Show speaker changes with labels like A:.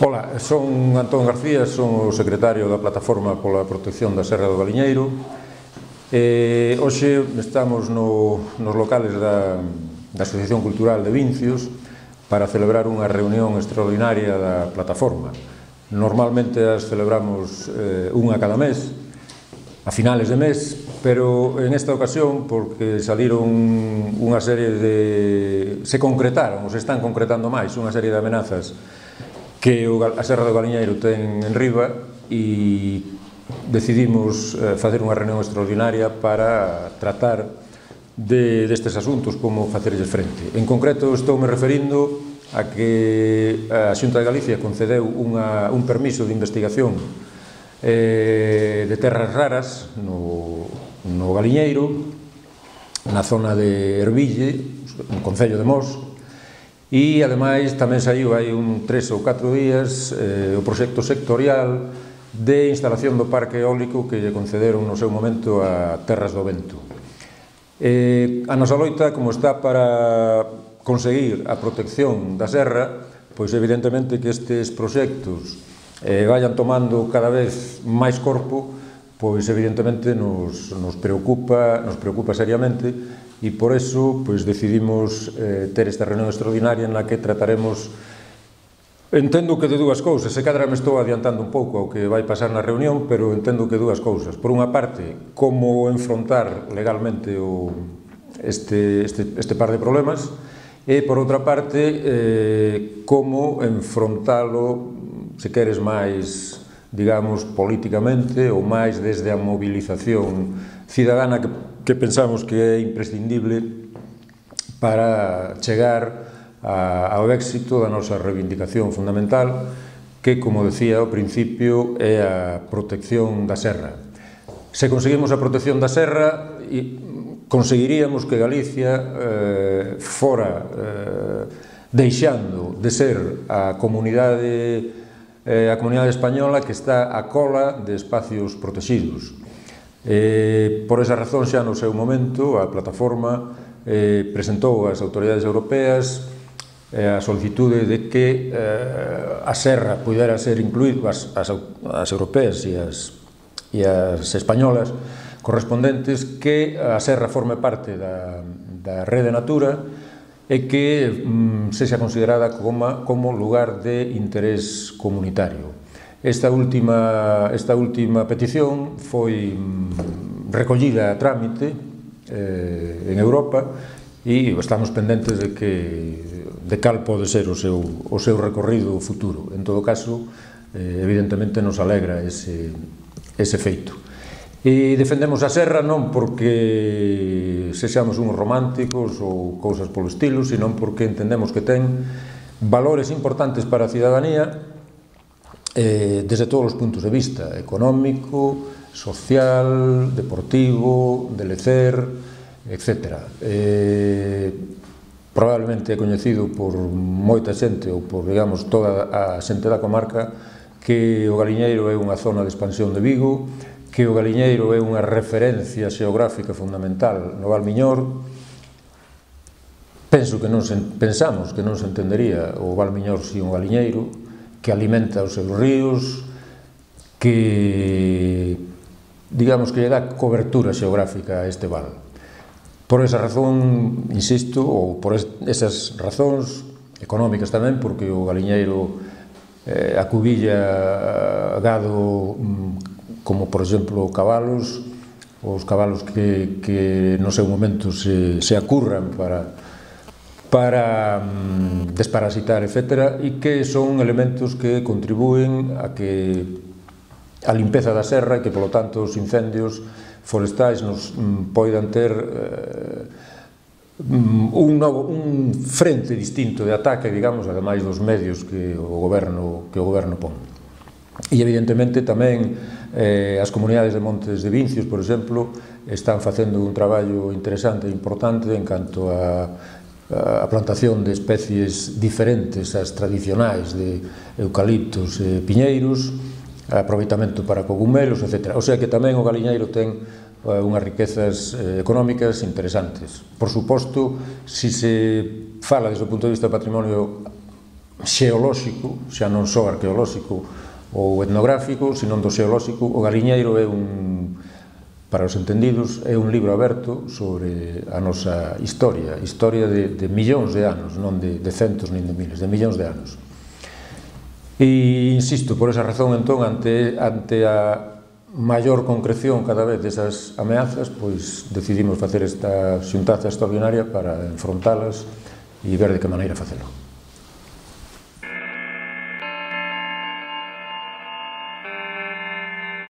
A: Ola, son Antón García, son o secretario da Plataforma pola Protección da Serra do Galiñeiro. Hoxe estamos nos locales da Asociación Cultural de Vincios para celebrar unha reunión extraordinaria da Plataforma. Normalmente as celebramos unha cada mes, a finales de mes, pero en esta ocasión, porque saliron unha serie de... se concretaron, ou se están concretando máis, unha serie de amenazas que a Serra do Galiñeiro ten en riba, e decidimos facer unha reunión extraordinaria para tratar destes asuntos, como facerlles frente. En concreto, estou me referindo a que a Xunta de Galicia concedeu un permiso de investigación de terras raras no Galiñeiro, na zona de Erville, no concello de Mos. E, ademais, tamén saiu hai 3 ou 4 días o proxecto sectorial de instalación do parque eólico que lle concederon no seu momento a Terras do Vento. A nosa loita, como está para conseguir a protección da serra, pois evidentemente que estes proxectos vayan tomando cada vez máis corpo, pois evidentemente nos preocupa seriamente. E por eso decidimos ter esta reunión extraordinaria na que trataremos, entendo que de dúas cousas, se cadra me estou adiantando un pouco ao que vai pasar na reunión, pero entendo que dúas cousas. Por unha parte, como enfrontar legalmente este par de problemas, e por outra parte, como enfrontalo, se queres máis, digamos, políticamente ou máis desde a movilización cidadana que pensamos que é imprescindible para chegar ao éxito da nosa reivindicación fundamental, que, como decía ao principio, é a protección da serra. Se conseguimos a protección da serra, conseguiríamos que Galicia fora deixando de ser a comunidade española que está a cola de espacios protegidos. Por esa razón, xa no seu momento, a Plataforma presentou ás autoridades europeas a solicitude de que a serra pudera ser incluída, as europeas e as españolas correspondentes, que a serra forme parte da rede Natura e que sexa considerada como lugar de interés comunitario. Esta última petición foi recollida a trámite en Europa e estamos pendentes de cal pode ser o seu recorrido futuro. En todo caso, evidentemente nos alegra ese feito. E defendemos a serra non porque sexamos uns románticos ou cousas polo estilo, senón porque entendemos que ten valores importantes para a cidadanía desde todos os puntos de vista, económico, social, deportivo, de lecer, etc. Probablemente é coñecido por moita xente, ou por, digamos, toda a xente da comarca, que o Galiñeiro é unha zona de expansión de Vigo, que o Galiñeiro é unha referencia xeográfica fundamental no Val Miñor. Pensamos que non se entendería o Val Miñor sin o Galiñeiro, que alimenta os seus ríos, que, digamos, que lle dá cobertura xeográfica a este val. Por esa razón, insisto, ou por esas razóns económicas tamén, porque o Galiñeiro acubilla gado como, por exemplo, cabalos, os cabalos que no seu momento se acurran para desparasitar, etc., e que son elementos que contribúen a limpeza da serra e que, polo tanto, os incendios forestais nos poidan ter un frente distinto de ataque, digamos, ademais dos medios que o goberno pon. E, evidentemente, tamén as comunidades de Montes de Vincios, por exemplo, están facendo un traballo interesante e importante en canto a plantación de especies diferentes ás tradicionais de eucaliptos e piñeiros, aproveitamento para cogumelos, etc. O sea que tamén o Galiñeiro ten unhas riquezas económicas interesantes. Por suposto, se se fala desde o punto de vista do patrimonio xeolóxico, xa non só arqueolóxico ou etnográfico, senón do xeolóxico. O Galiñeiro é para os entendidos, é un libro aberto sobre a nosa historia de millóns de anos, non de centos nin de miles, de millóns de anos. E insisto, por esa razón, entón, ante a maior concreción cada vez desas ameazas, pois decidimos facer esta xuntanza extraordinaria para enfrontalas e ver de que maneira facelo.